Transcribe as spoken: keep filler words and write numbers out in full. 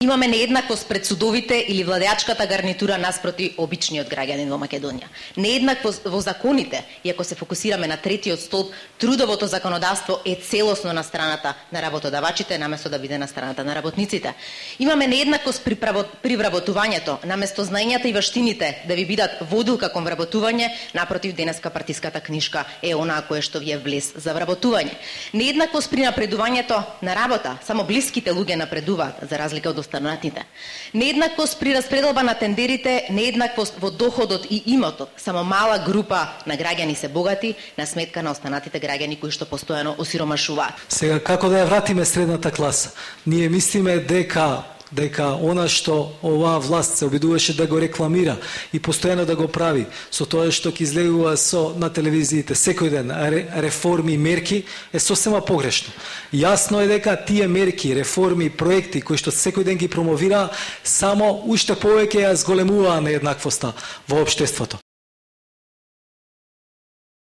Имаме нееднаквост пред судовите или владеачката гарнитура наспроти обичниот граѓанин во Македонија. Нееднаквост во законите, и ако се фокусираме на третиот столб, трудовото законодавство е целосно на страната на работодавачите, наместо да биде на страната на работниците. Имаме нееднаквост при, право, при вработувањето, наместо знаењата и вештините да ви бидат водилка кон вработување, напротив, денеска партиската книшка е онаа која што ви е влез за вработување. Нееднаквост при напредувањето на работа, само блиските луѓе напредуваат, за разлика од останатите. Нееднаквост при распределба на тендерите, нееднаквост во доходот и имотот. Само мала група на граѓани се богати на сметка на останатите граѓани кои што постојано осиромашуваат. Сега како да ја вратиме средната класа? Ние мислиме дека дека она што оваа власт се обидуваше да го рекламира и постојано да го прави со тоа што ќе излегува со на телевизиите секој ден реформи и мерки е сосема погрешно. Јасно е дека тие мерки, реформи, проекти кои што секој ден ги промовира само уште повеќе ја зголемуваа нееднаквоста во општеството.